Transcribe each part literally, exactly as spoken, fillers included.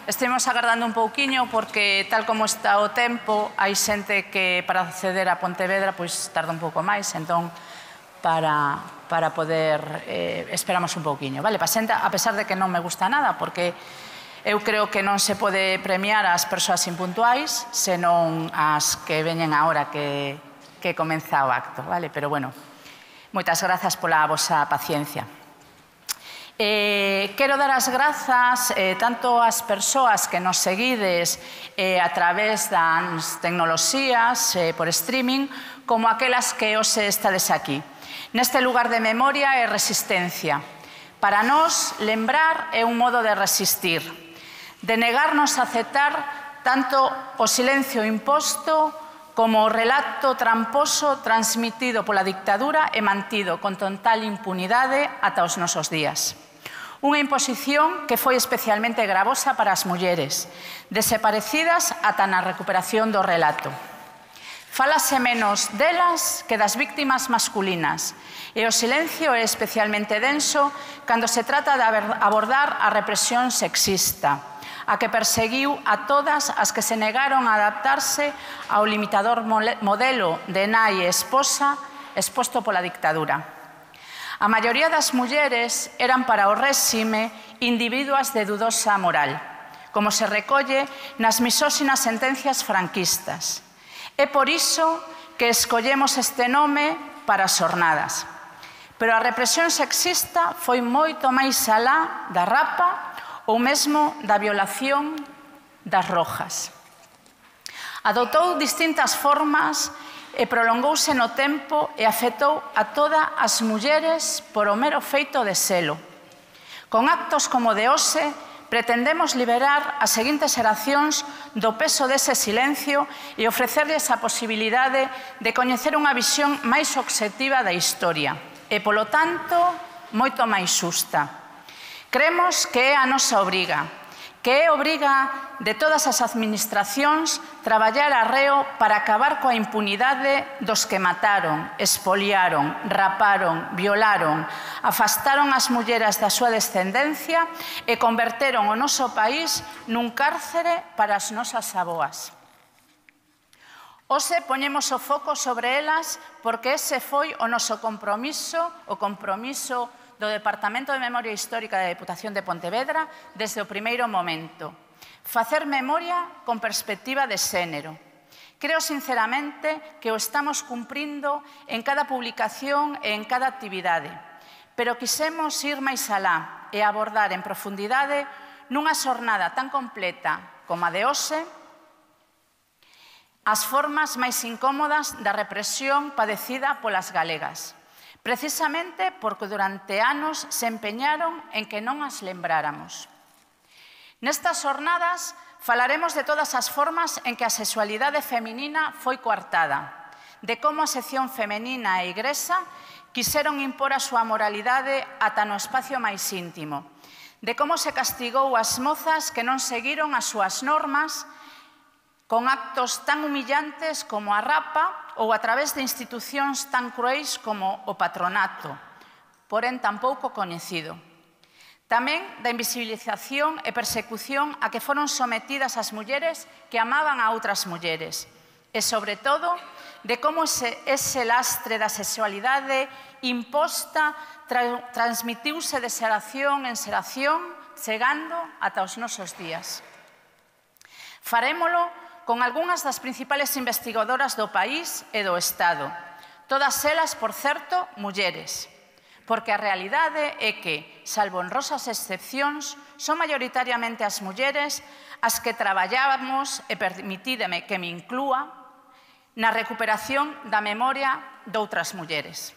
Estivemos agardando un pouquiño porque, tal como está o tempo, hai xente que para acceder a Pontevedra pois tarda un pouco máis, entón para, para poder eh, esperamos un pouquiño, vale? Pa xente, a pesar de que non me gusta nada, porque eu creo que non se pode premiar as persoas impuntuais, senón as que veñen a hora que, que comeza o acto, vale? Pero bueno, moitas grazas pola vosa paciencia. Eh, quero dar as grazas eh, tanto ás persoas que nos seguides eh, a través das tecnoloxías eh, por streaming como aquelas que hoxe estades aquí. Neste lugar de memoria e resistencia. Para nós, lembrar é un modo de resistir, de negarnos a aceptar tanto o silencio imposto como o relato tramposo transmitido pola dictadura e mantido con total impunidade ata os nosos días. Unha imposición que foi especialmente gravosa para as mulleres, desaparecidas ata na recuperación do relato. Fálase menos delas que das víctimas masculinas, e o silencio é especialmente denso cando se trata de abordar a represión sexista, a que perseguiu a todas as que se negaron a adaptarse ao limitador modelo de nai e esposa exposto pola dictadura. A maioría das mulleres eran para o réxime individuas de dudosa moral, como se recolle nas misóxinas sentencias franquistas. É por iso que escollemos este nome para as xornadas. Pero a represión sexista foi moito máis alá da rapa ou mesmo da violación das rojas. Adoptou distintas formas e prolongouse no tempo e afectou a todas as mulleres por o mero feito de selo. Con actos como de hoxe, pretendemos liberar as seguintes xeracións do peso dese silencio e ofrecerlles a posibilidade de coñecer unha visión máis obxectiva da historia e, polo tanto, moito máis xusta. Cremos que é a nosa obriga, que é obriga de todas as administracións traballar arreo para acabar coa impunidade dos que mataron, expoliaron, raparon, violaron, afastaron as mulleres da súa descendencia e converteron o noso país nun cárcere para as nosas avoas. Hoxe poñemos o foco sobre elas porque ese foi o noso compromiso, o compromiso do Departamento de Memoria Histórica da Deputación de Pontevedra desde o primeiro momento. Facer memoria con perspectiva de xénero. Creo sinceramente que o estamos cumprindo en cada publicación e en cada actividade, pero quisemos ir máis alá e abordar en profundidade nunha xornada tan completa como a de hoxe as formas máis incómodas da represión padecida polas galegas. Precisamente porque durante anos se empeñaron en que non as lembráramos. Nestas xornadas falaremos de todas as formas en que a sexualidade feminina foi coartada, de como a sección femenina e igrexa quixeron impor a súa moralidade ata no espacio máis íntimo, de como se castigou as mozas que non seguiron as súas normas con actos tan humillantes como a rapa ou a través de institucións tan cruéis como o patronato, porén tan pouco coñecido. Tamén da invisibilización e persecución a que foron sometidas as mulleres que amaban a outras mulleres e, sobre todo, de como ese, ese lastre da sexualidade imposta tra transmitiuse de xeración en xeración, chegando ata os nosos días. Farémolo con algunhas das principales investigadoras do país e do Estado. Todas elas, por certo, mulleres. Porque a realidade é que, salvo honrosas excepcións, son maioritariamente as mulleres as que traballábamos, e permitídeme que me inclúa, na recuperación da memoria doutras mulleres.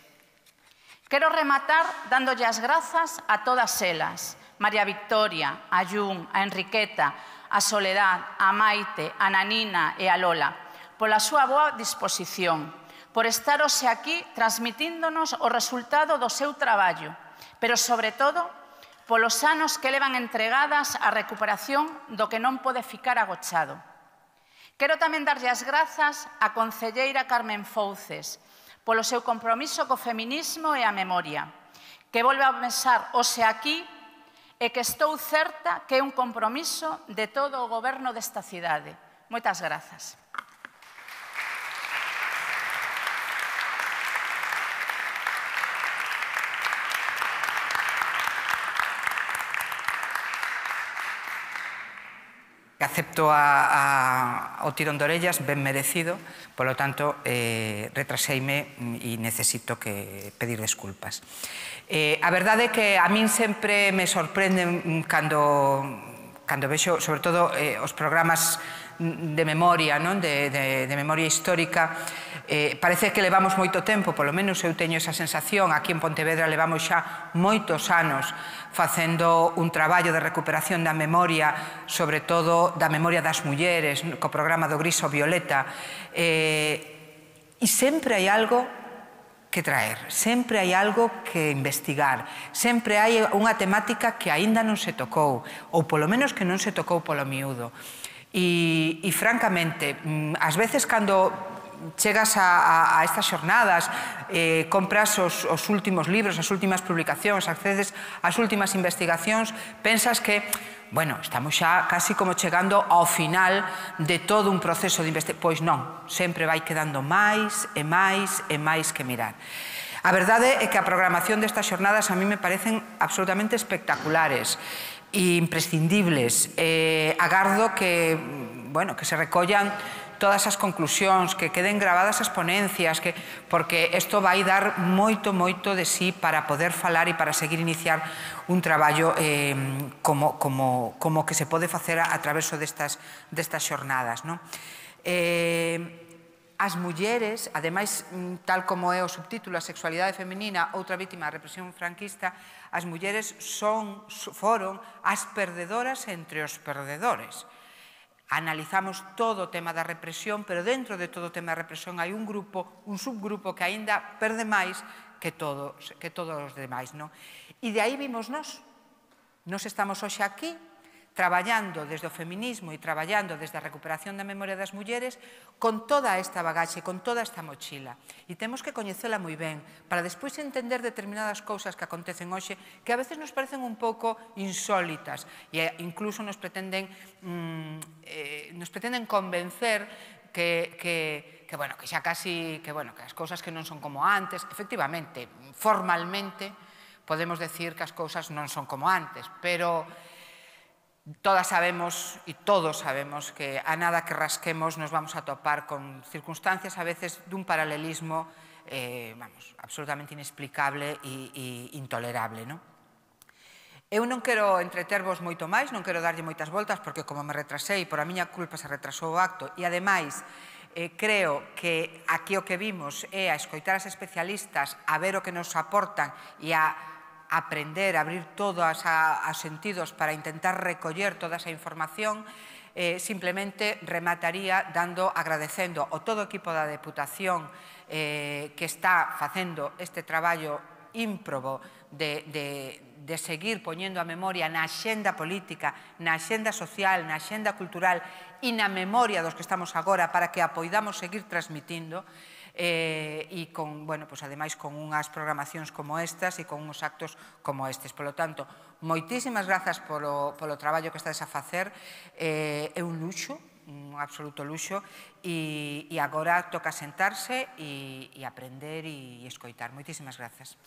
Quero rematar dándolle as grazas a todas elas, María Victoria, a Yun, a Enriqueta, a Soledad, a Maite, a Nanina e a Lola, pola súa boa disposición, por estar hoxe aquí transmitíndonos o resultado do seu traballo, pero, sobre todo, polos anos que levan entregadas á recuperación do que non pode ficar agochado. Quero tamén darlle as grazas á concelleira Carmen Fouces polo seu compromiso co feminismo e a memoria, que volve a pensar hoxe aquí e que estou certa que é un compromiso de todo o goberno desta cidade. Moitas grazas. Acepto a, a, o tirón de orellas, ben merecido, polo tanto, eh, retraseime e necesito que pedir desculpas. Eh, a verdade é que a min sempre me sorprende cando, cando vexo, sobre todo, eh, os programas de memoria, non? De, de, de memoria histórica, eh, parece que levamos moito tempo, polo menos eu teño esa sensación, aquí en Pontevedra levamos xa moitos anos facendo un traballo de recuperación da memoria, sobre todo da memoria das mulleres, co programa do Gris ao Violeta, eh, e sempre hai algo que traer, sempre hai algo que investigar, sempre hai unha temática que aínda non se tocou, ou polo menos que non se tocou polo miúdo. E, e francamente, ás veces cando chegas a, a, a estas xornadas, eh, compras os, os últimos libros, as últimas publicacións, accedes ás últimas investigacións, pensas que, bueno, estamos xa casi como chegando ao final de todo un proceso de investigación. Pois non, sempre vai quedando máis e máis e máis que mirar. A verdade é que a programación destas xornadas a mí me parecen absolutamente espectaculares e imprescindibles. Eh, agardo que, bueno, que se recollan todas as conclusións, que queden gravadas as ponencias, que, porque isto vai dar moito, moito de sí para poder falar e para seguir iniciar un traballo eh, como, como, como que se pode facer a, a traveso destas, destas xornadas, non? Eh, As mulleres, ademais, tal como é o subtítulo, a sexualidade feminina, outra vítima da represión franquista, as mulleres son, foron as perdedoras entre os perdedores. Analizamos todo o tema da represión, pero dentro de todo o tema da represión hai un grupo, un subgrupo que aínda perde máis que todos, que todos os demais, non? E de aí vimos nós. Nós estamos hoxe aquí, traballando desde o feminismo e traballando desde a recuperación da memoria das mulleres con toda esta bagaxe, con toda esta mochila. E temos que coñecela moi ben para despois entender determinadas cousas que acontecen hoxe que a veces nos parecen un pouco insólitas e incluso nos pretenden, mm, eh, nos pretenden convencer que, que, que, bueno, que xa casi, que, bueno, que as cousas que non son como antes. Efectivamente, formalmente podemos decir que as cousas non son como antes, pero todas sabemos e todos sabemos que a nada que rasquemos nos vamos a topar con circunstancias a veces dun paralelismo eh, vamos, absolutamente inexplicable e, e intolerable, non? Eu non quero entretervos moito máis, non quero darlle moitas voltas porque como me retrasei, por a miña culpa se retrasou o acto e ademais eh, creo que aquí o que vimos é a escoitar as especialistas, a ver o que nos aportan e a aprender, a abrir todos os sentidos para intentar recoller toda esa información, eh, simplemente remataría dando, agradecendo ao todo o equipo da Deputación eh, que está facendo este traballo ímprobo de, de, de seguir poñendo a memoria na axenda política, na axenda social, na axenda cultural e na memoria dos que estamos agora para que a poidamos seguir transmitindo. Eh, e con, bueno, pues ademais con unhas programacións como estas e con uns actos como estes. Polo tanto, moitísimas grazas polo, polo traballo que estades a facer. Eh, é un luxo, un absoluto luxo, e, e agora toca sentarse e, e aprender e, e escoitar. Moitísimas grazas.